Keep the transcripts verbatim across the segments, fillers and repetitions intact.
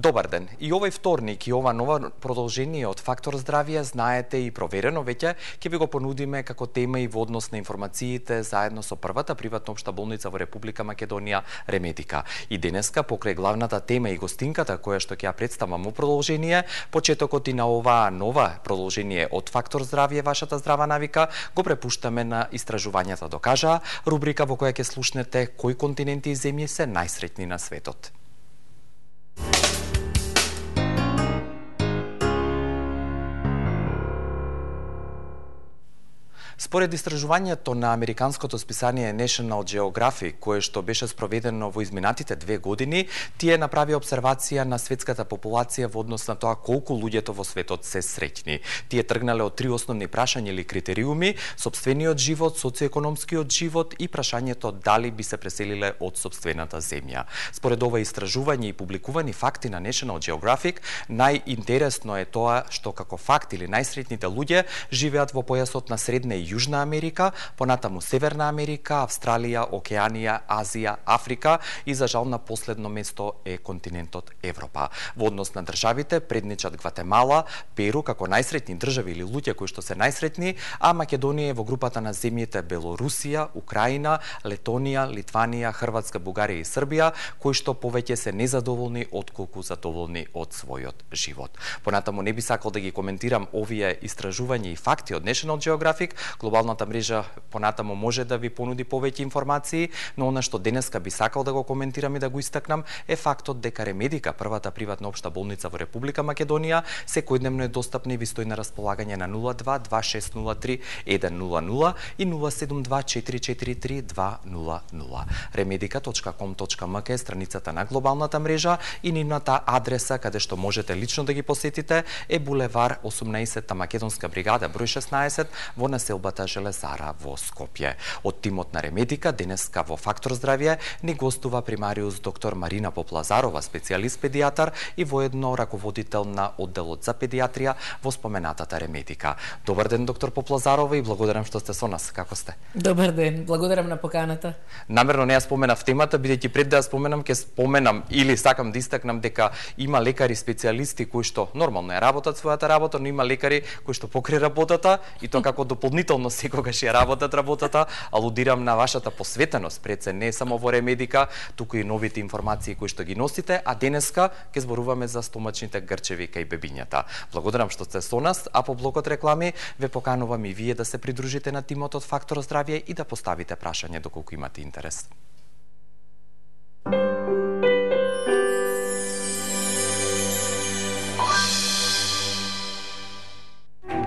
Добар ден. И овој вторник и ова нова продолжение од Фактор здравје, знаете и проверено веќе, ќе ви го понудиме како тема и во однос на информациите заедно со првата приватна општа болница во Република Македонија, Ремедика. И денеска, покрај главната тема и гостинката која што ќе ја представам во продолжение, почетокот и на оваа нова продолжение од Фактор здравје, вашата здрава навика, го препуштаме на истражувањата докажаа, рубрика во која ќе слушнете кои континенти и земји се најсреќни на светот. Според истражувањето на американското списание National Geographic, кое што беше спроведено во изминатите две години, тие направи обсервација на светската популација во однос на тоа колку луѓето во светот се среќни. Тие тргнале од три основни прашања или критериуми: сопствениот живот, социоекономскиот живот и прашањето дали би се преселиле од сопствената земја. Според ова истражување и публикувани факти на National Geographic, најинтересно е тоа што како факт или најсреќните луѓе живеат во појасот на Средна и Јужна Америка, понатаму Северна Америка, Австралија, Океанија, Азија, Африка и за жал на последно место е континентот Европа. Во однос на државите предничат Гватемала, Перу како најсреќни држави или луѓе кои што се најсреќни, а Македонија е во групата на земјите Белорусија, Украина, Летонија, Литванија, Хрватска, Бугарија и Србија, кои што повеќе се незадоволни отколку задоволни од својот живот. Понатаму не би сакал да ги коментирам овие истражувања и факти од National Geographic. Глобалната мрежа понатаму може да ви понуди повеќе информации, но она што денеска би сакал да го коментирам и да го истакнам е фактот дека Ремедика, првата приватна општа болница во Република Македонија, секојдневно е достапна и ви стои на располагање на нула два два шест нула три еден нула нула и нула седум два четири четири три два нула нула. ремедика точка ком точка ем ке е страницата на глобалната мрежа и нивната адреса каде што можете лично да ги посетите е булевар осумнаесетта Македонска бригада број шеснаесет во населбата Железара во Скопје. Од тимот на Ремедика денеска во Фактор здравје ни гостува примариус доктор Марина Поплазарова, специјалист педијатар и воедно раководител на одделот за педијатрија во споменатата Ремедика. Добар ден, доктор Поплазарова, и благодарам што сте со нас. Како сте? Добар ден, благодарам на поканата. Намерно не ја споменав темата, бидејќи пред да ја споменам, ќе споменам или сакам да истакнам дека има лекари специјалисти кои што нормално ја работат својата работа, но има лекари кои што покрај работата и тоа како дополнително секогаш ја работат работата. Алудирам на вашата посветеност пред се не само во Ремедика, туку и новите информации кои што ги носите, а денеска ќе зборуваме за стомачните грчеви кај бебињата. Благодарам што сте со нас, а по блокот реклами ве поканувам и вие да се придружите на тимот од Фактор здравје и да поставите прашање доколку имате интерес.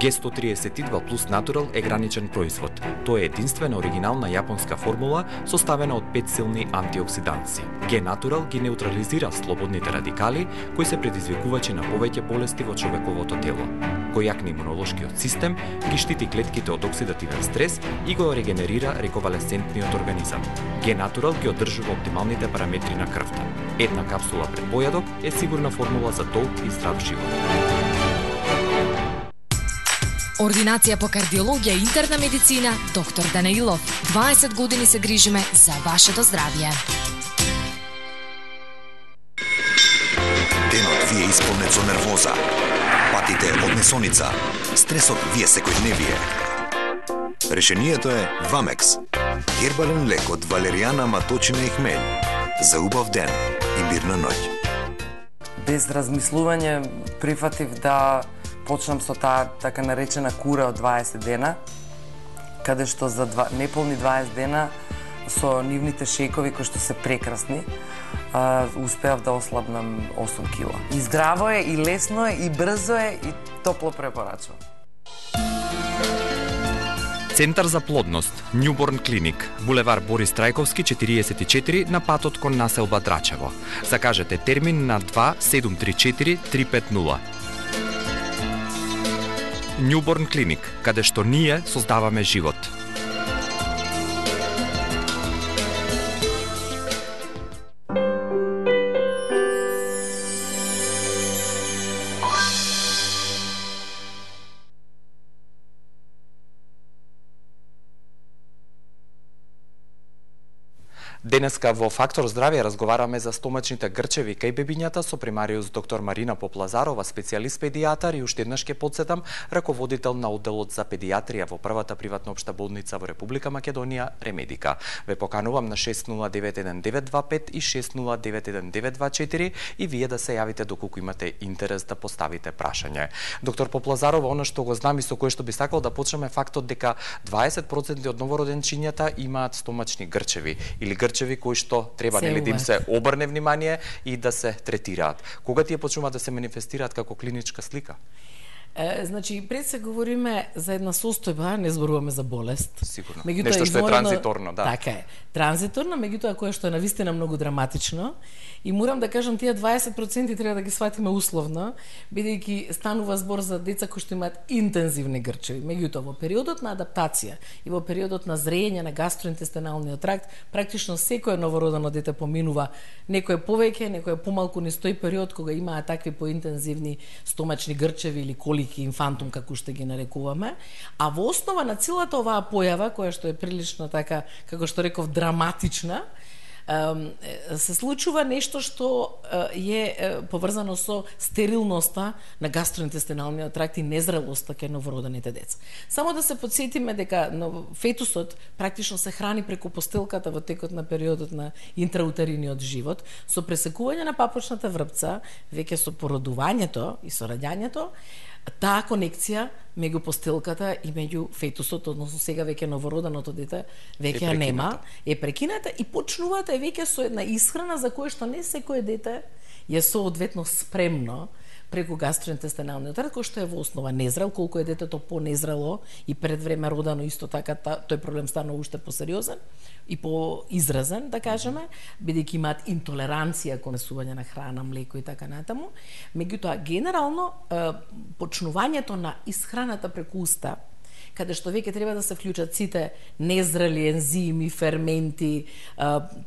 Г сто триесет и два плюс Натурал е граничен производ. Тоа е единствена оригинална јапонска формула составена од пет силни антиоксиданци. Г Натурал ги неутрализира слободните радикали кои се предизвикувачи на повеќе болести во човековото тело. Кој јакне имунолошкиот систем, ги штити клетките од оксидативен стрес и го регенерира рековалесцентниот организам. Г Натурал ги одржува оптималните параметри на крвта. Една капсула пред појадок е сигурна формула за долг и здрав живот. Ординација по кардиологија и интерна медицина, доктор Данаилов. дваесет години се грижиме за вашето здравје. Денот ви е исполнет со нервоза, патите од несоница, стресот ви е секојдневие. Решението е Вамекс. Гербален лек од валеријана, маточина и хмелј. За убав ден и мирна ноќ. Без размислување прифатив да почнам со таа така наречена кура од дваесет дена, каде што за два, неполни дваесет дена со нивните шејкови кои што се прекрасни, а, успеав да ослабнам осум кила. И здраво е, и лесно е, и брзо е, и топло препорачувам. Центар за плодност, Newborn Clinic, булевар Борис Трајковски четириесет и четири на патот кон населба Драчево. Закажете термин на два седум три четири три пет нула. Newborn Clinic, каде што ние создаваме живот. Денеска во Фактор здравје разговараме за стомачните грчеви кај бебињата со примариус доктор Марина Поплазарова, специјалист педијатар, и уште еднаш ке потсетам, раководител на одделот за педијатрија во првата приватна општа болница во Република Македонија, Ремедика. Ве поканувам на шест нула девет еден девет два пет и шест нула девет еден девет два четири и вие да се јавите доколку имате интерес да поставите прашање. Доктор Поплазарова, она што го знам и со кое што би сакал да почнеме, фактот дека дваесет проценти од новороденчињата имаат стомачни грчеви или грчеви кои што треба нели да им се обрне внимание и да се третираат. Кога тие почнуваат да се манифестираат како клиничка слика? Е, значи, пред се говориме за една состојба, не зборуваме за болест. Сигурно. Меѓутоа, Нешто што е изморено, транзиторно, да. Така е. Транзиторно, меѓутоа кое што е навистина многу драматично. И морам да кажам, тие дваесет проценти треба да ги сватиме условно, бидејќи станува збор за деца кои што имаат интензивни грчеви. Меѓутоа, во периодот на адаптација и во периодот на зреење на гастроинтестиналниот тракт, практично секое новородено дете поминува некој повеќе, некој помалку низ тој период кога имаат такви поинтензивни стомачни грчеви или колики инфантум, како што ги нарекуваме, а во основа на целата оваа појава, која што е прилично така, како што реков, драматична, се случува нешто што е поврзано со стерилноста на гастроинтестиналниот тракт и незрелоста кај новородените деца. Само да се подсетиме дека фетусот практично се храни преку постелката во текот на периодот на интраутериниот живот, со пресекување на папочната врпца, веќе со породувањето и со раѓањето, таа конекција меѓу постелката и меѓу фетусот, односно сега веќе новороденото дете, веќе ја нема, е прекината и почнуваат е веќе со една исхрана за која што не секое дете е соодветно спремно преку гастроинтестиналниот тракт, кој што е во основа незрел, колку е детето понезрело и пред време родено, исто така тој проблем станува уште посериозен и поизразен, да кажеме, бидејќи имаат интолеранција кон месување на храна, млеко и така натаму. Меѓутоа, генерално, почнувањето на исхраната преку уста, каде што веќе треба да се вклучат сите незрели ензими, ферменти,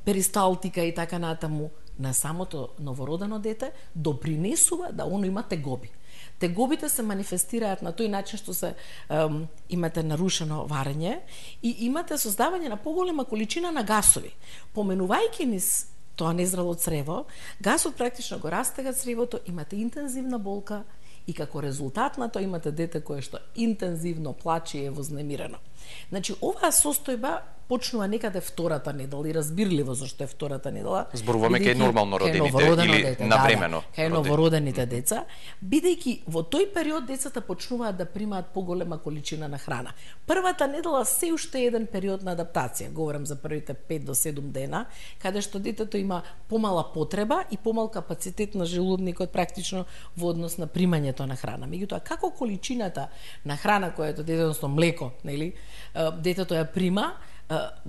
перисталтика и така натаму, на самото новородено дете, допринесува да оно има тегоби. Тегобите се манифестираат на тој начин што се ем, имате нарушено варење и имате создавање на поголема количина на гасови. Поменувајќи низ тоа незрело црево, гасот практично го растега цревото, имате интензивна болка и како резултат на тоа имате дете кое што интензивно плаче и е вознемирено. Значи, оваа состојба почнува некаде втората недела и разбирливо зашто е втората недела. Зборуваме кај нормално родените или дете, навремено. Да, да, кај новородените деца, бидејќи во тој период децата почнуваат да примаат поголема количина на храна. Првата недела се уште е еден период на адаптација, говорам за првите пет до седум дена, каде што детето има помала потреба и помал капацитет на желудникот практично во однос на примањето на храна. Меѓутоа, како количината на храна која е детето, млеко, нели, детето ја прима,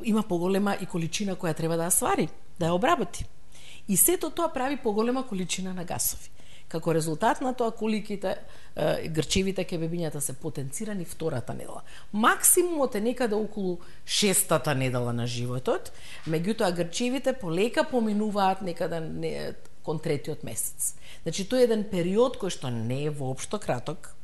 има поголема и количина која треба да ја свари, да ја обработи. И сето тоа прави поголема количина на гасови. Како резултат на тоа, коликите грчевите кај бебињата се потенцирани втората недела. Максимумот е некаде околу шестата недела на животот, меѓутоа грчевите полека поминуваат некаде не, кон третиот месец. Значи, тој е еден период кој што не е воопшто краток.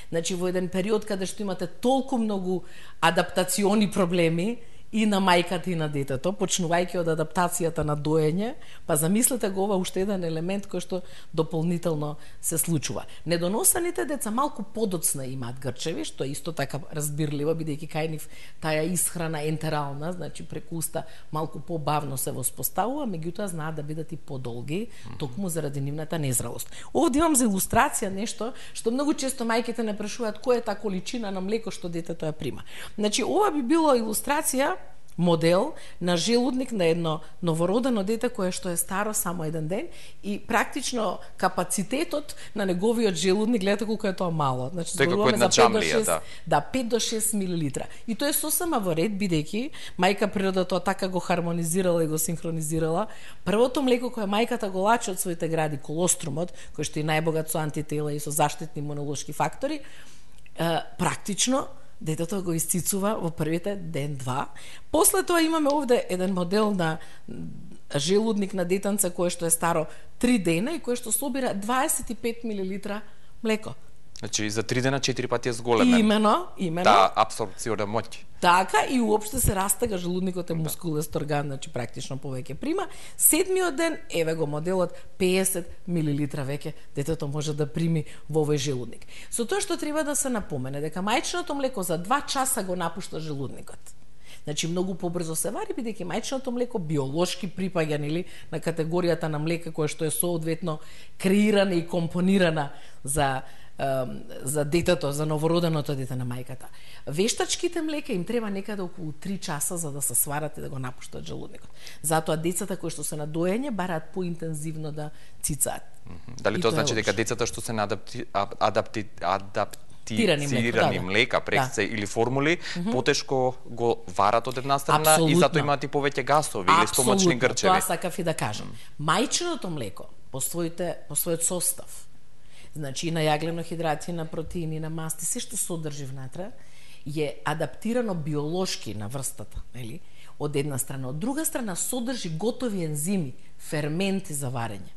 Значи, во еден период каде што имате толку многу адаптациони проблеми и на мајката и на детето, почнувајќи од адаптацијата на доење, па замислете го ова уште еден елемент кој што дополнително се случува. Недоносените деца малку подоцна имаат грчеви, што е исто така разбирливо, бидејќи кај нив таа исхрана ентерална, значи преку уста малку побавно се воспоставува, меѓутоа знаат да бидат и подолги, токму заради нивната незрелост. Овде имам за илустрација нешто што многу често мајките не прашуваат која е таа количина на млеко што детето ја прима. Значи, ова би било илустрација, модел на желудник на едно новородено дете кое што е старо само еден ден и практично капацитетот на неговиот желудник, гледате колку е тоа мало. Значи, зборуваме за пет до шест, да. Да, пет до шест милилитра. И тоа е сосема во ред, бидејќи мајка природа тоа така го хармонизирала и го синхронизирала. Првото млеко кое мајката го лачи од своите гради, колострумот, кој што е најбогат со антитела и со заштитни имунолошки фактори, практично детето го исцицува во првите ден-два. После тоа имаме овде еден модел на желудник на детенце кое што е старо три дена и кое што собира дваесет и пет милилитра млеко. Значи за три дена четири пати е зголемен. Имено, имено. Таа апсорбциона моќ. Така и уопште се растега желудникот е мускулест орган, значи практично повеќе прима. Седмиот ден, еве го моделот, песет милилитра веќе детето може да прими во овој желудник. Со тоа што треба да се напомене дека мајчиното млеко за два часа го напушта желудникот. Значи многу побрзо се вари, бидејќи мајчиното млеко биолошки припаѓа нели на категоријата на млека која што е соодветно креирана и компонирана за за детето, за новороденото дете на мајката. Вештачките млека им треба некаде околу три часа за да се сварат и да го напуштат желудникот. Затоа децата кои што се на доење бараат поинтензивно да цицаат. Дали тоа значи дека децата што се на адапти адапти адапти Тирани млека, тирани да, да. млека прекце да. или формули, mm -hmm. потешко го варат од една страна Абсолютно. и затоа имаат и повеќе гасови или стомачни грчеви. Тоа сакав и да кажам. Мајчиното млеко по своите по својот состав, значи на јаглено-хидрати, на протеини, на масти, се што содржи внатре е адаптирано биолошки на врстата, нели? Од една страна, од друга страна содржи готови ензими, ферменти за варење,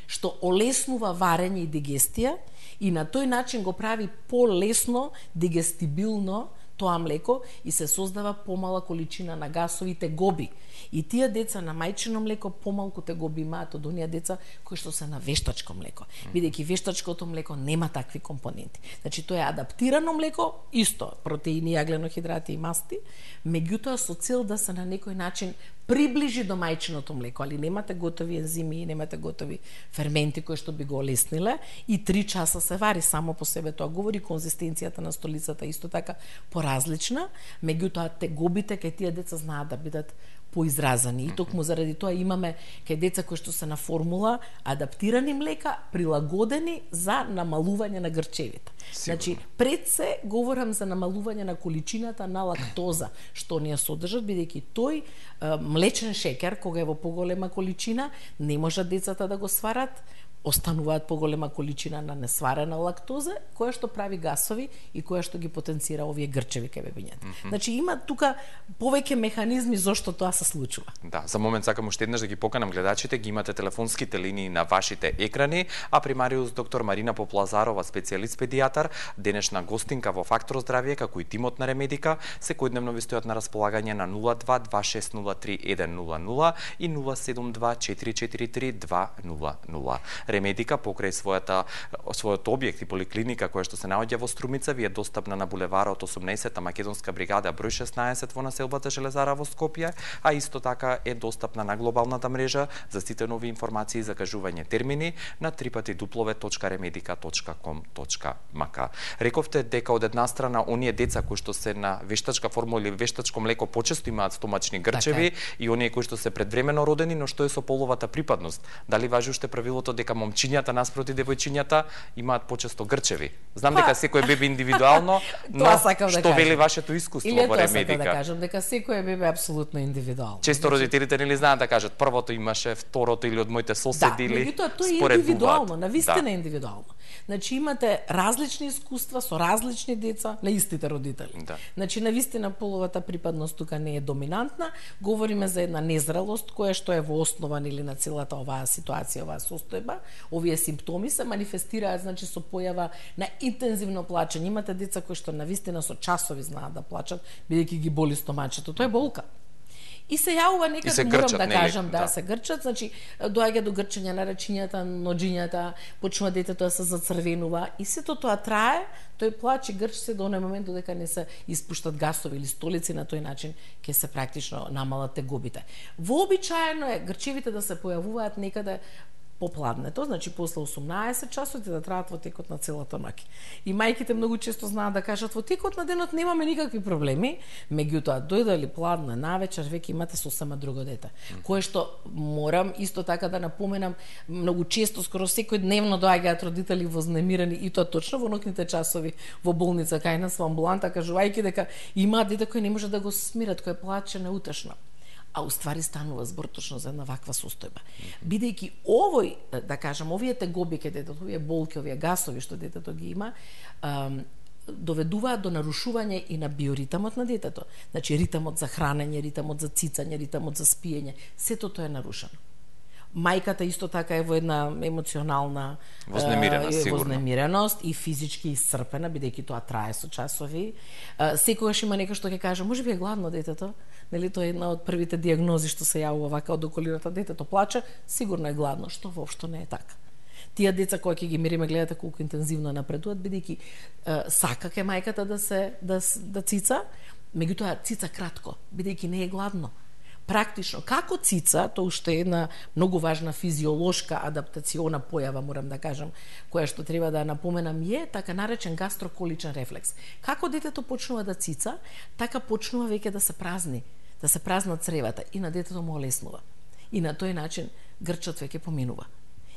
што олеснува варење и дигестија и на тој начин го прави полесно, дигестибилно тоа млеко и се создава помала количина на гасови тегоби. И тие деца на мајчино млеко помалку тегоби имаат од оние деца кои што се на вештачко млеко. Бидејќи вештачкото млеко нема такви компоненти. Значи тоа е адаптирано млеко, исто протеини, јаглено-хидрати и масти, меѓутоа со цел да се на некој начин приближи до мајчиното млеко, али немате готови ензими, немате готови ферменти кои што би го олесниле и три часа се вари само по себе. Тоа говори конзистенцијата на столицата исто така поразлична, меѓутоа тегобите кај тие деца знаат да бидат поизразани. И токму заради тоа имаме кај деца кои што се на формула адаптирани млека, прилагодени за намалување на грчевите. Значи, пред се говорам за намалување на количината на лактоза што ние содржат, бидејќи тој е, млечен шеќер, кога е во поголема количина, не можат децата да го сварат, остануваат поголема количина на несварена лактоза, која што прави гасови и која што ги потенцира овие грчеви кај бебињата. Mm -hmm. Значи има тука повеќе механизми зошто тоа се случува. Да, за момент сакам уште еднаш да ги поканам гледачите, ги имате телефонските линии на вашите екрани, а примариус доктор Марина Поплазарова, специјалист педијатар, денешна гостинка во Фактор здравје, како и тимот на Ремедика, секојдневно ви стојат на располагање на нула два два шест нула три еден нула нула и нула седум два четири четири три два нула нула. Ремедика покрај својата својот објект и поликлиника која што се наоѓа во Струмица ви е достапна на булеварот осумнаесетта Македонска бригада број шеснаесет во населбата Железара во Скопје, а исто така е достапна на глобалната мрежа за сите нови информации и закажување термини на три пати дуплове точка ремедика точка ком точка мк. Рековте дека од една страна оние деца кои што се на вештачка формула или вештачко млеко почесто имаат стомачни грчеви така и оние кои што се предвремено родени, но што е со половата припадност? Дали важи уште правилото дека момчињата наспроти девојчињата имаат почесто грчеви? Знам па... дека секој бебе индивидуално, но што да вели вашето искуство или во Ремедика? Или тоа да кажам, дека секој бебе е апсолутно индивидуално. Често родителите нели знаат да кажат првото имаше, второто или од моите соседи да, или меѓутоа тоа е индивидуално, навистина да. индивидуално. Значи имате различни искуства со различни деца на истите родители. Да. Значи навистина половата припадност тука не е доминантна, говориме за една незрелост која што е во основа или на целата оваа ситуација, оваа состојба. Овие симптоми се манифестираат значи со појава на интензивно плачење. Имате деца кои што навистина со часови знаат да плачат бидејќи ги боли стомачето. Тоа е болка. И се јавува некаде, морам да нели? кажам, да, да, се грчат, значи доаѓа до грчење на рачињата, ноџињата, почнува детето да се зацрвенува и сето тоа трае, тој плач и грч се до оној момент додека не се испуштат гасови или столици, на тој начин ќе се практично намалат тегобите. Вообичаено е грчевите да се појавуваат некаде попладнето, значи после осумнаесет часот и да траат во текот на целата ноќ. И мајките многу често знаат да кажат во текот на денот немаме никакви проблеми, меѓутоа дојде ли пладна навечер веќе имате сосема друго дете. Mm. Кое што морам исто така да напоменам, многу често скоро секојдневно доаѓаат родители вознемирени и тоа точно во ноќните часови во болница кај нас во амбуланта кажувајќи дека имаат дете кои не може да го смират, кој плаче неутешно. А уствари станува збор точно за една ваква состојба. Бидејќи овој, да кажам, овие тегоби кај детето, овие болки, овие гасови што детето ги има, ам, доведуваат до нарушување и на биоритамот на детето. Значи ритамот за хранење, ритамот за цицање, ритамот за спиење, сето тоа е нарушено. Мајката исто така е во една емоционална вознемиреност, е, сигурно. Вознемиреност и физички исцрпена, бидејќи тоа трае со часови. А, секогаш има некој што ќе каже, може би е гладно детето. Нели тоа е една од првите дијагнози што се јавува вака од околината, детето плаче, сигурно е гладно, што воопшто не е така. Тие деца кои ќе ги мириме, гледате колку интензивно напредуваат, бидејќи сака ке мајката да се да, да цица, меѓутоа цица кратко, бидејќи не е гладно. Практично, како цица, тоа уште е една многу важна физиолошка адаптациона појава, морам да кажам, која што треба да напоменам, е така наречен гастроколичен рефлекс. Како детето почнува да цица, така почнува веќе да се празни, да се празнат цревата и на детето му олеснува. И на тој начин грчот веќе поминува.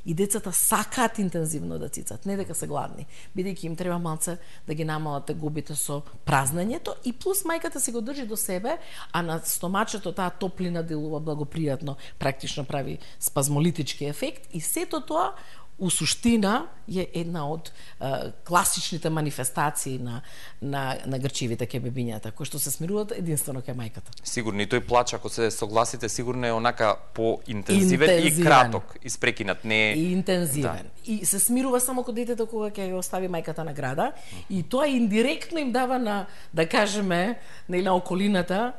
И децата сакаат интензивно да цицат, не дека се гладни, бидејќи им треба малце да ги намалат тегубите со празнењето и плюс мајката се го држи до себе, а на стомачето таа топлина делува благопријатно, практично прави спазмолитички ефект и сето тоа у суштина е една од е, класичните манифестации на, на, на грчивите ке бебињата, кои што се смируваат единствено ке мајката. Сигурно и тој плач, ако се согласите, сигурно е онака поинтензивен и краток, испрекинат, не е... И интензивен. Да. И се смирува само кога детето кога ќе го остави мајката на града, и тоа индиректно им дава на, да кажеме, на околината,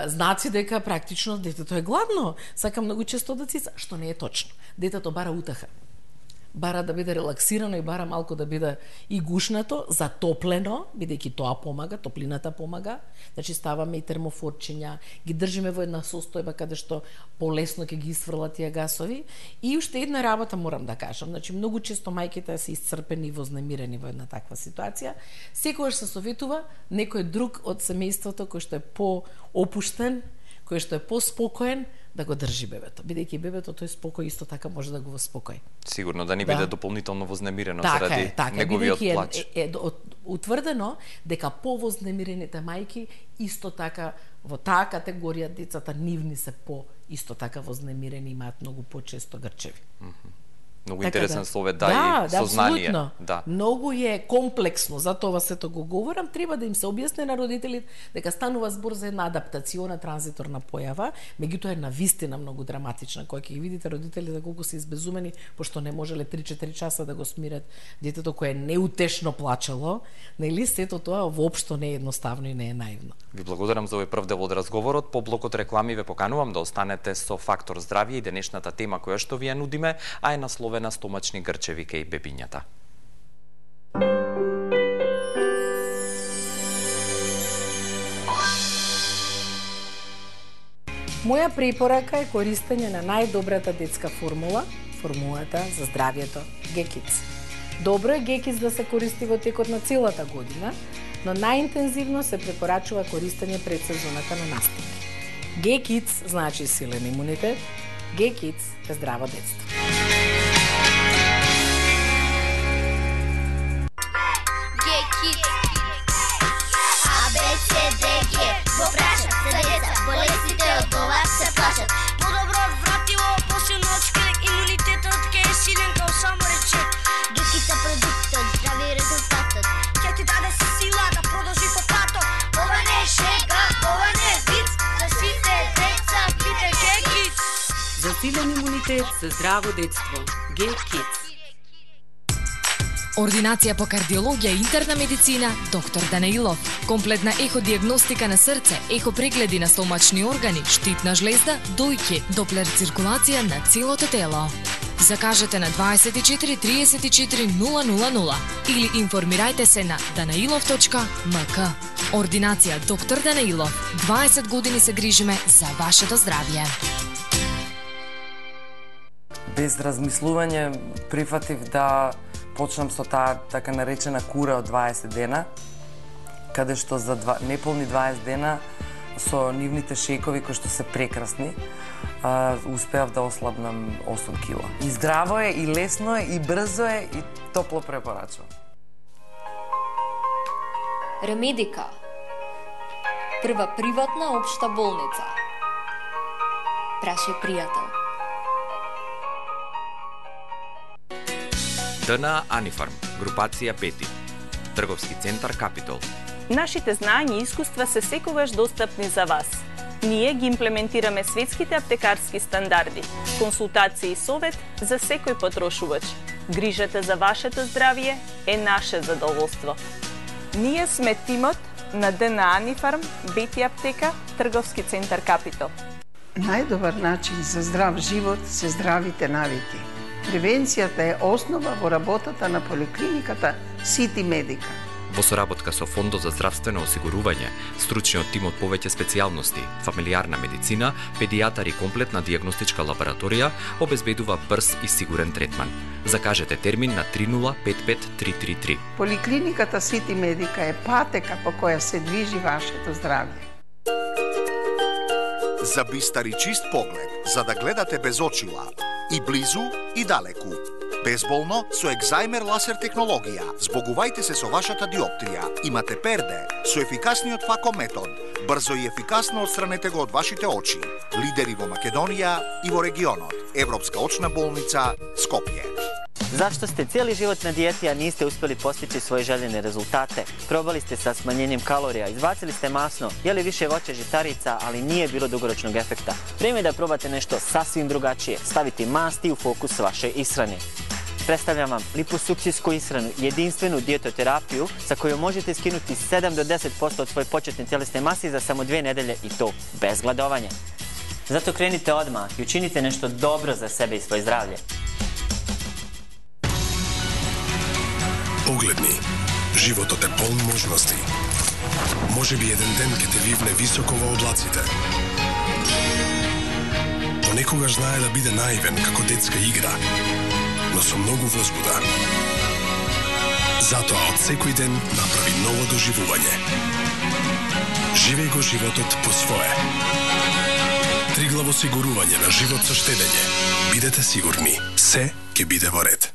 знаци дека практично детето е гладно, сака многу често да цица, што не е точно. Детето бара утеха. Бара да биде релаксирано и бара малку да биде и гушнато, затоплено, бидејќи тоа помага, топлината помага. Значи ставаме и термофорчиња, ги држиме во една состојба каде што полесно ќе ги исфрлат тие гасови. И уште една работа морам да кажам, значи многу често мајките се исцрпени и вознемирени во една таква ситуација. Секогаш се советува некој друг од семејството кој што е по-опуштен, кој што е по-спокоен, да го држи бебето, бидејќи бебето тој спокој исто така може да го воспокои. Сигурно да не биде да. дополнително вознемирено така заради е, така, неговиот плач. Е, е, е утврдено дека повознемирените мајки исто така во таа категорија децата нивни се по исто така вознемирени, имаат многу почесто грчеви. Mm -hmm. Многу така интересен да. словет, да, да и сознание. Да, да. Многу е комплексно, затоа сето го говорам, треба да им се објасни на родителите дека станува збор за една адаптациона транзиторна појава, меѓутоа е навистина многу драматична, која ќе ги видите родителите колку се избезумени, пошто не можеле три-четири часа да го смират детето кое неутешно плачело, нели сето тоа воопшто не е едноставно и не е наивно. Ви благодарам за овој прв дел од разговорот. По блокот реклами ве поканувам да останете со Фактор здравје и денешната тема која што ви ја нудиме, а е насловена на стомачни грчеви кај бебињата. Моја препорака е користење на најдобрата детска формула, формулата за здравјето Г-Kids. Добро е Г-Kids да се користи во текот на целата година, но најинтензивно се препорачува користење пред сезоната на настапи. Г-Kids значи силен имунитет, Г-Kids е здраво детство. Го прашат се деца, болестите од ова се плашат. Подобро вратило, посилно од шкрек, имунитетот ке е силен као само речек. Г-Kids е продуктот, здрави резултатот, ќе ти даде сила да продолжи по патот. Ова не е шега, ова не е виц, за сите деца пите Г-Kids. За силен имунитет, за здраво детство, Г-Kids. Ординација по кардиологија и интерна медицина, доктор Данаилов. Комплетна еходиагностика на срце, ехопрегледи на стомачни органи, штитна жлезда, дојки, доплер циркулација на целото тело. Закажете на дваесет и четири триесет и четири нула нула нула или информирајте се на данаилов точка ем ка. Ординација доктор Данаилов. дваесет години се грижиме за вашето здравје. Без размислување прифатив да почнам со таа така наречена кура од дваесет дена, каде што за два, неполни дваесет дена со нивните шекови кои што се прекрасни, а, успеав да ослабнам осум кила. И здраво е, и лесно е, и брзо е, и топло препорачувам. Ремедика. Прва приватна општа болница. Праши пријател. ДНА Анифарм, групација пети, трговски центар Капитол. Нашите знања и искуства се секогаш достапни за вас. Ние ги имплементираме светските аптекарски стандарди, консултации и совет за секој потрошувач. Грижата за вашето здравје е наше задоволство. Ние сме тимот на ДНА Анифарм, Бети аптека, трговски центар Капитал. Најдобар начин за здрав живот се здравите навики. Превенцијата е основа во работата на поликлиниката Сити Медика. Во соработка со Фондот за здравствено осигурување, стручниот тим од повеќе специјалности, фамилиарна медицина, педијатар и комплетна дијагностичка лабораторија обезбедува брз и сигурен третман. Закажете термин на три нула пет пет три три три. Поликлиниката Сити Медика е патека по која се движи вашето здравје. За бистар и чист поглед, за да гледате без очила, и близу и далеку. Безболно со екзајмер ласер технологија. Збогувајте се со вашата диоптрија. Имате перде со ефикасниот фако метод. Брзо и ефикасно отстранете го од вашите очи. Лидери во Македонија и во регионот. Европска очна болница Скопје. Зашто сте цели живот на диети, а нисте успели постичи своји желени резултате? Пробали сте sa smanjenjem kalorija, izbacili ste masno, jeli više voća žitarica, ali nije bilo dugoročnog efekta. Vrijeme je da probate nešto sasvim drugačije, staviti masti u fokus vaše ishrane. Predstavljam vam liposukcijsku ishranu, jedinstvenu dijetoterapiju sa kojom možete skinuti sedam do deset posto od svoje početne tjelesne mase za samo dvije nedelje i to bez gladovanja. Zato krenite odmah i učinite nešto dobro za sebe i svoje zdravlje. Погледни, животот е полн можности. Може би еден ден ќе те вивне високо во облаците. Понекогаш знае да биде наивен како детска игра, но со многу возбуда. Затоа од секој ден направи ново доживување. Живеј го животот по свое. Триглаво осигурување на живот со штедење. Бидете сигурни, се ќе биде во ред.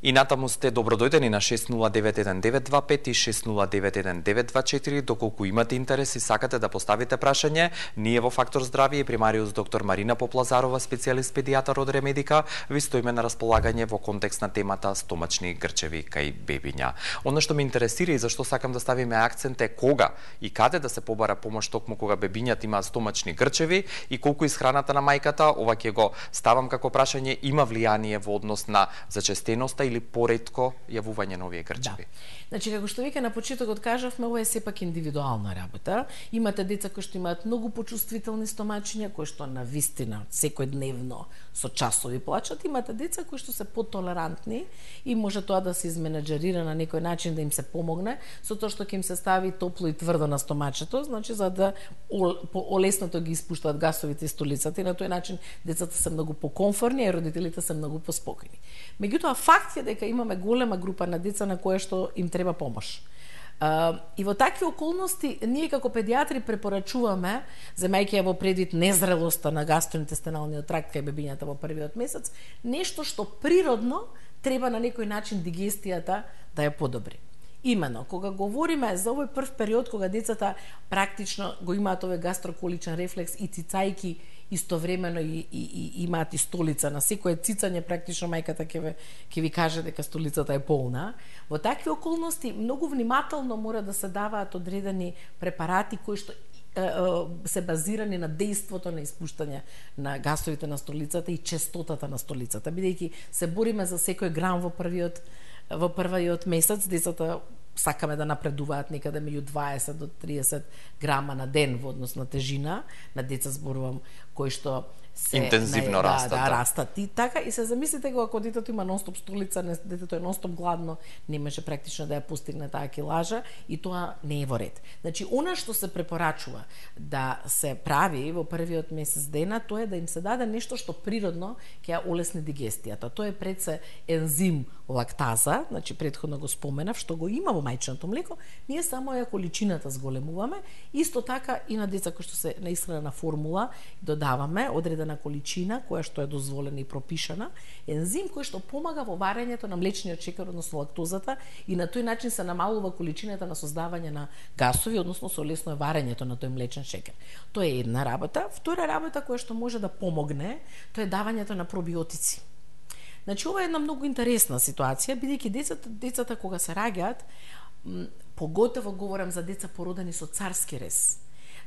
И натаму сте добродојдени на шест нула девет еден девет два пет и шест нула девет еден девет два четири. Доколку имате интерес и сакате да поставите прашање, ние во Фактор здравје и примариус доктор Марина Поплазарова, специјалист педијатар од Ремедика, ви стоиме на располагање во контекст на темата стомачни грчеви кај бебиња. Оно што ме интересира и зашто сакам да ставиме акцент е кога и каде да се побара помош токму кога бебињата имаат стомачни грчеви и колку исхраната на мајката, ова ќе го ставам како прашање, има влијание во однос на зачестеноста или поретко јавување на овие грчеви. Да. Значи, како што веќе на почетокот кажавме, ова е сепак индивидуална работа. Имате деца кои што имаат многу почувствителни стомачиња, кои што на вистина секојдневно со часови плачат. Имате деца кои што се потолерантни и може тоа да се изменеджерира на некој начин да им се помогне со тоа што ќе им се стави топло и тврдо на стомачето, значи за да олеснато ги испуштаат гасовите и столицата и на тој начин децата се многу покомфорни и родителите се многу поспокојни. Меѓутоа факт е дека имаме голема група на деца на која што им треба помош. Uh, и во такви околности ние како педијатри препорачуваме, земајќи ја во предвид незрелоста на гастроинтестиналниот тракт кај бебињата во првиот месец, нешто што природно треба на некој начин дигестијата да ја подобри. Имено, кога говориме за овој прв период кога децата практично го имаат овој гастроколичен рефлекс и цицајки истовремено и, и, и имаат и столица, на секое цицање практично мајката ќе ви, ќе ви каже дека столицата е полна. Во такви околности многу внимателно мора да се даваат одредени препарати кои што се базирани на дејството на испуштање на гасовите на столицата и честотата на столицата, бидејќи се бориме за секој грам во првиот во првиот месец. Децата сакаме да напредуваат некаде меѓу дваесет до триесет грама на ден во однос на тежина, на деца зборувам кои што се интензивно да, растат. Да, да, растат. И така, и се замислите го, ако детето има нонстоп столица, не, детето е нонстоп гладно, не може практично да ја постигне таа килажа и тоа не е во ред. Значи, она што се препорачува да се прави во првиот месец дена, тоа е да им се даде нешто што природно ќе ја олесни дигестијата. Тоа е пред се ензим лактаза, значи предходно го споменав, што го има во мајчиното млеко, ние само ја количината зголемуваме. Исто така и на деца кои што се на исхранена формула додаваме одредена количина која што е дозволена и пропишана, ензим кој што помага во варењето на млечниот шекер, односно лактозата, и на тој начин се намалува количината на создавање на гасови, односно се олеснува варењето на тој млечен шекер. Тоа е една работа. Втора работа која што може да помогне, тоа е давањето на пробиотици. Значи, ова е една многу интересна ситуација, бидејќи децата, децата кога се раѓаат, поготово говорам за деца породени со царски рез.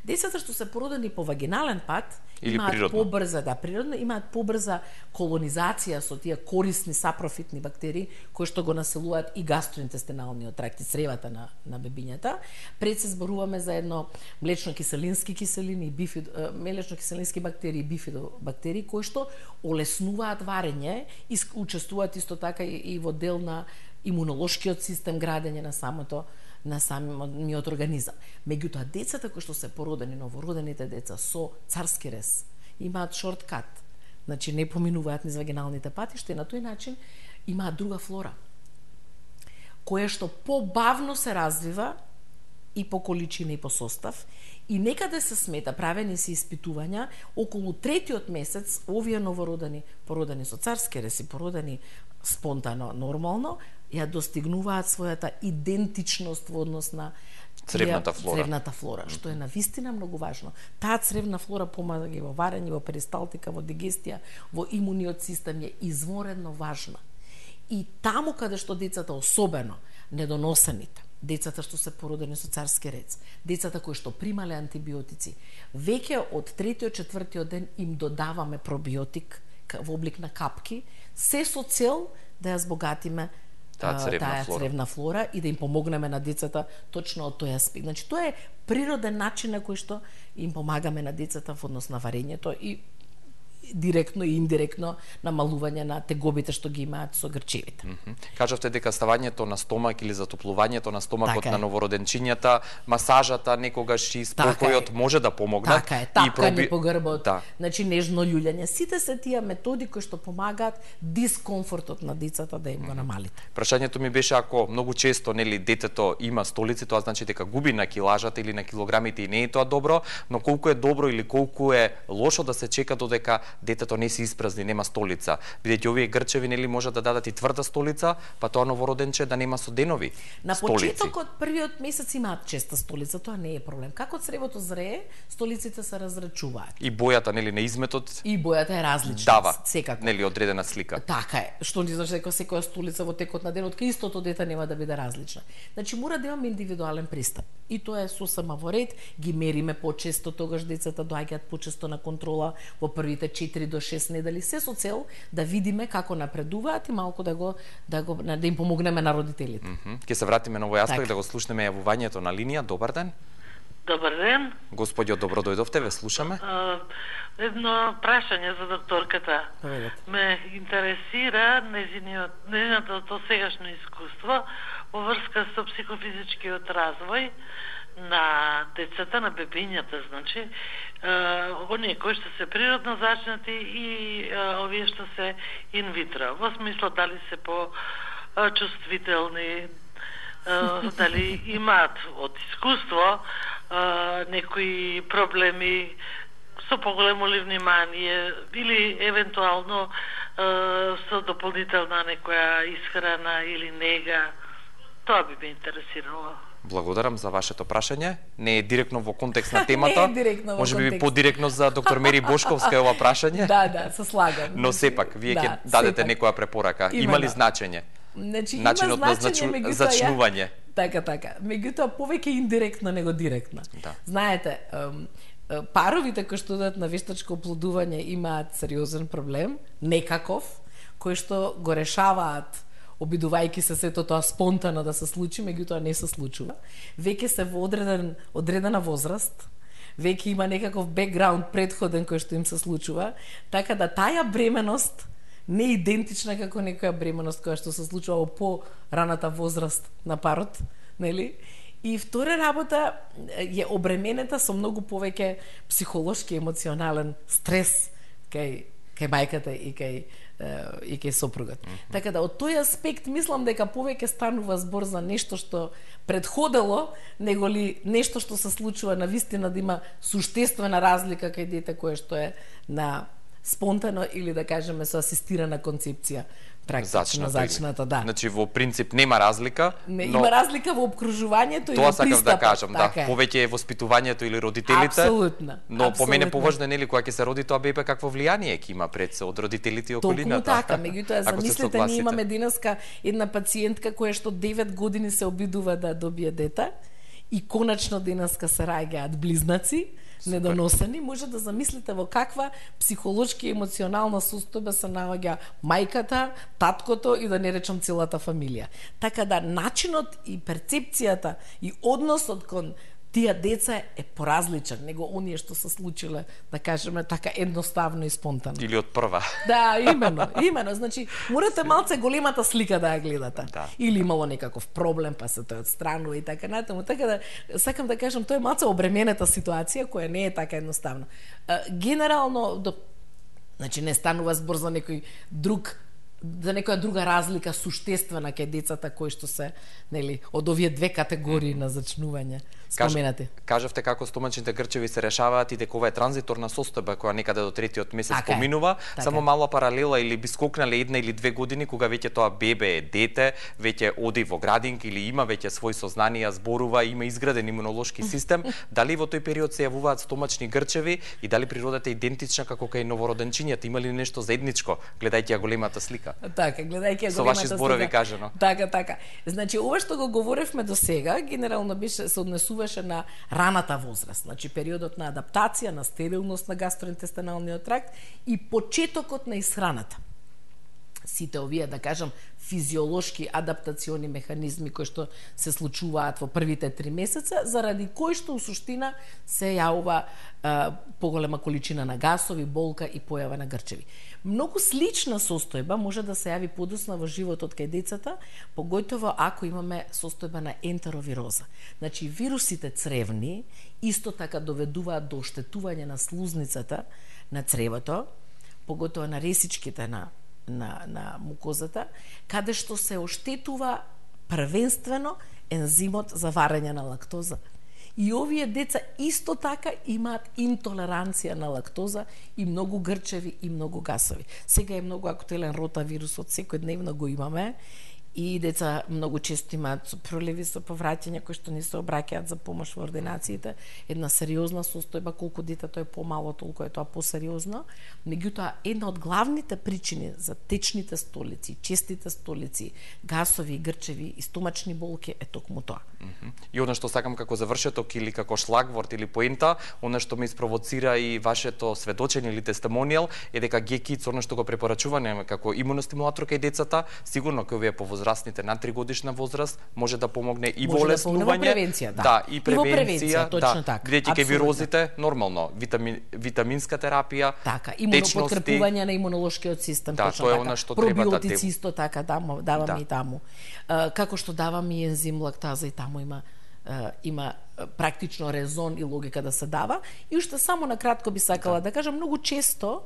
Децата што се породени по вагинален пат или имаат природно. побрза, да, природно, имаат побрза колонизација со тие корисни сапрофитни бактерии кои што го населуваат и гастроинтестиналниот тракт и цревата на на бебињата. Пред се зборуваме за едно млечно-киселински киселини и бифид, млечно-киселински бактерии и бифидобактерии кои што олеснуваат варење и учествуваат исто така и, и во дел на имунолошкиот систем, градење на самото на самиот организам. Меѓутоа, децата кои што се породени, новородените деца со царски рез, имаат шорткат, значи не поминуваат низ вагиналните патишта и на тој начин имаат друга флора, која што побавно се развива и по количина и по состав, и некаде се смета, правени се испитувања, околу третиот месец овие новородени, породени со царски рез и породени спонтано, нормално, ја достигнуваат својата идентичност во однос на цревната флора, цревната флора, што е навистина многу важно. Таа цревна флора помага ги во варење, во перисталтика, во дигестија, во имуниот систем е изворедно важна. И таму каде што децата, особено недоносените, децата што се породени со царски рез, децата кои што примале антибиотици, веќе од третиот, четвртиот ден им додаваме пробиотик во облик на капки, се со цел да ја збогатиме таа цревна, таа флора. цревна флора и да им помогнеме на децата точно од тој аспект. Значи, тоа е природен начин на кој што им помагаме на децата во однос на варењето и директно и индиректно намалување на тегобите што ги имаат со грчевите. Mm -hmm. Кажавте дека ставањето на стомак или затоплувањето на стомакот така на новороденчињата, масажата, некогаш и спокојот така може да помогнат. Така е, тапкање проби... по грбот, да. Значи нежно љулјање. Сите се тие методи кои што помагаат дискомфортот на децата да им го намалите. Прашањето ми беше, ако многу често нели детето има столици, тоа значи дека губи на килажата или на килограмите и не е тоа добро, но колку е добро или колку е лошо да се чека додека детето не се испразни, нема столица. Бидејќи овие грчеви нели може да дадат и тврда столица, па тоа новороденче да нема со денови на столици. На почетокот првиот месец имаат честа столица, тоа не е проблем. Како цревото зрее, столиците се разрачуваат. И бојата нели на изметот и бојата е различна. Дава, секако. Нели одредена слика. Така е. Што ни значи дека секоја столица во текот на денот кај истото дете нема да биде различна. Значи мора да имаме индивидуален пристап. И тоа е сосема во ред, ги мериме почесто, тогаш децата доаѓаат почесто на контрола во првите четири до шест недели, се со цел да видиме како напредуваат и малку да го да го да им помогнеме на родителите. Mm -hmm. Ке се вратиме на овој аспект, так. Да го слушнеме јавувањето на линија. Добар ден. Добар ден. Господјо, добро дојдовте, ве слушаме. Uh, едно прашање за докторката. Добре. Ме интересира незиниот незиното сегашно искуство во врска со психофизичкиот развој на децата, на бебињата, значи, е, оние кои што се природно зачнати и е, овие што се инвитро. Во смисло дали се по е, чувствителни, е, дали имаат од искуство е, некои проблеми со поголемо ли внимание или евентуално е, со дополнителна некоја исхрана или нега. Тоа би ме интересирало. Благодарам за вашето прашање. Не е директно во контекст на темата. Не е директно во Може би контекст. подиректно за доктор Мери Бошковска е ова прашање. Да, да, се слагам. Но сепак, вие ќе да, дадете сепак. некоја препорака. Има, Има ли да. значење? Значи, Начинот има на значење, значу... зачнување. Ја... Така, така. Меѓутоа, повеќе индиректно него директно. Да. Знаете, паровите кои што одат на вештачко оплодување имаат сериозен проблем, некаков, кој што го решаваат обидувајќи се сето тоа спонтано да се случи, меѓутоа не се случува. Веќе се во одреден, одредена возраст, веќе има некаков бекграунд предходен кој што им се случува, така да таа бременост не е идентична како некоја бременост која што се случува во по-раната возраст на парот, нели? И втора работа е обременета со многу повеќе психолошки емоционален стрес кај кај мајката и кај и кај сопругот. Mm -hmm. Така да од тој аспект мислам дека повеќе станува збор за нешто што предходело, него ли нешто што се случува на вистина да има суштествена разлика кај дете кое што е на спонтано или да кажеме со асистирана концепција. Практично Зачната, зачната, да. Значи во принцип нема разлика, не, но има разлика во обкружувањето и во тоа пристапот. сакам да кажам, да, така повеќе е воспитувањето или родителите. Апсолутно. Но Апсолутно. по мене поважно нели кога ќе се роди тоа бебе какво влијание ќе има пред се од родителите и околината. Токму така, меѓутоа замислете, ние имаме денеска една пациентка која што девет години се обидува да добие дете и конечно денеска се раѓаат близнаци. Супер. Недоносени, може да замислите во каква психолошки и емоционална состојба се наоѓа мајката, таткото и да не речам целата фамилија. Така да начинот и перцепцијата и односот кон тие деца е поразличен него оние што се случиле, да кажеме така едноставно и спонтано. Или од прва. Да, имено, имено. Значи, морате малце големата слика да ја гледате. Да. Или имало некаков проблем, па се тој одстранува и така натаму. Така да, сакам да кажам, тоа е малце обременета ситуација, која не е така едноставна. Генерално, до... значи, не станува збор за некој друг за некоја друга разлика суштествена кај децата кои што се, нели, од овие две категории на зачнување споменати. Кажавте како стомачните грчеви се решаваат и дека ова е транзиторна состојба која некаде до третиот месец така поминува, така само мала паралела или би скокнале една или две години кога веќе тоа бебе е дете, веќе оди во градинка или има веќе свој сознанија, зборува, има изграден имунолошки систем, дали во тој период се јавуваат стомачни грчеви и дали природата е идентична како кај новороденчињата, има ли нешто заедничко, гледајќи ја големата слика? Така, гледајќи ја големата слика. Со ваши зборови кажано. Така, така. Значи, ова што го говоревме до сега, генерално беше се однесуваше на раната возраст, значи периодот на адаптација, на стерилност на гастроинтестиналниот тракт и почетокот на исхраната. Сите овие, да кажам, физиолошки адаптациони механизми кои што се случуваат во првите три месеца, заради кои што у суштина се јавува а, поголема количина на гасови, болка и појава на грчеви. Многу слична состојба може да се јави подоцна во животот кај децата, поготово ако имаме состојба на ентеровироза. Значи, вирусите цревни исто така доведуваат до оштетување на слузницата на цревото, поготово на ресичките на на на мукозата, каде што се оштетува првенствено ензимот за варење на лактоза. И овие деца исто така имаат интолеранција на лактоза и многу грчеви и многу гасови. Сега е многу актуелен ротавирусот, секојдневно го имаме и деца многу често имаат проливи со повраќања кои што не се обраќаат за помош во ординациите. Една сериозна состојба, колку детето е помало, толку е тоа посериозно. Меѓутоа, една од главните причини за течните столици, честите столици, гасови и грчеви и стомачни болки е токму тоа. Mm -hmm. И она што сакам како завршеток или како шлагворд или поента, она што ме испровоцира и вашето сведочење или тестимонијал е дека ГЕКИЦ, она што го препорачуваме како имуностимулатор кај децата, сигурно кај овие повозрастните над три годишна возраст може да помогне и во леснување, да, превенција, да. да, и превенција, и во превенција, точно да, така. бидејќи кај вирозите нормално, витамин, витаминска терапија, така, имунопоткрепување на имунолошкиот систем, да, точно тоа е така. она што треба да пробиотици исто така давам, давам да. и таму. Uh, како што давам и ензим лактаза и таму има uh, има практично резон и логика да се дава. И уште само на кратко би сакала да, да кажам, многу често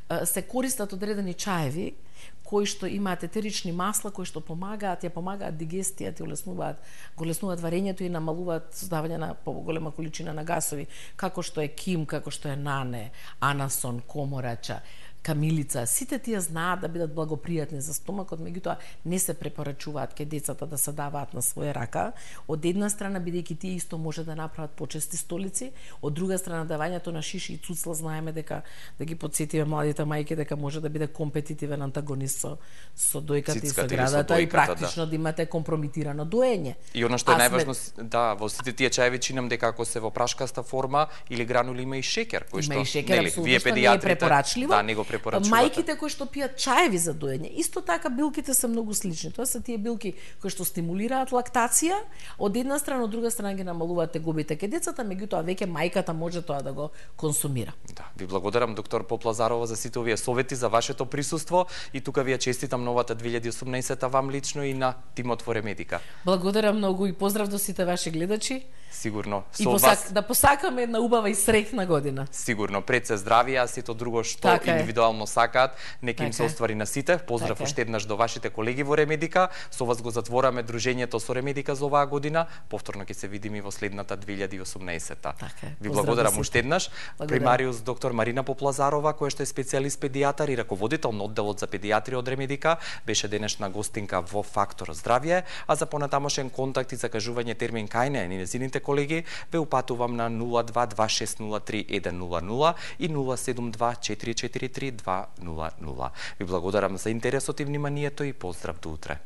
uh, се користат одредени чаеви кои што имаат етерични масла, кои што помагаат, ја помагаат дигестијата, ја улеснуваат, го леснуваат варењето и намалуваат создавање на поголема количина на гасови, како што е ким, како што е нане, анасон, коморача, камилица, сите тие знаат да бидат благопријатни за стомакот, меѓутоа не се препорачуваат кај децата да се даваат на своја рака. Од една страна, бидејќи тие исто може да направат почести столици, од друга страна давањето на шиши и цуцла знаеме дека да ги подсетиме младите мајки дека може да биде компетитивен антагонист со со дојката и со градата и практично да. да имате компрометирано доење. И она што е најважно, сме... да, во сите тие чаеви чинам дека ако се во прашкаста форма или гранули има и шекер, кој што има и шекер, нели, вие педиатрите, да, не го препорачувате? Мајките кои што пијат чаеви за доење, исто така билките се многу слични. Тоа се тие билки кои што стимулираат лактација, од една страна, од друга страна ги намалуваат тегобите кај децата, меѓутоа веќе мајката може тоа да го консумира. Да, ви благодарам доктор Поплазарова за сите овие совети, за вашето присуство и тука ви ја честитам новата две илјади и осумнаесета вам лично и на тимот во Ремедика. Благодарам многу и поздрав до сите ваши гледачи. Сигурно. И посак, вас... да посакаме една убава и среќна година. Сигурно. Пред се здравие, а сето друго што така индивидуално сакаат, нека им така се оствари на сите. Поздрав така уште еднаш до вашите колеги во Ремедика. Со вас го затвораме дружењето со Ремедика за оваа година. Повторно ќе се видиме во следната две илјади и осумнаесета. Така, ви благодарам уште еднаш. Примариус доктор Марина Поплазарова, која што е специјалист педијатар и раководител на одделот за педијатрија од Ремедика, беше денешна гостинка во Фактор здравје, а за понатамошен контакт и закажување термин кај неа и незините колеги ве упатувам на нула два два шест нула три еден нула нула и нула седум два четири четири три два нула нула. Ви благодарам за интересот и вниманието и поздрав до утре.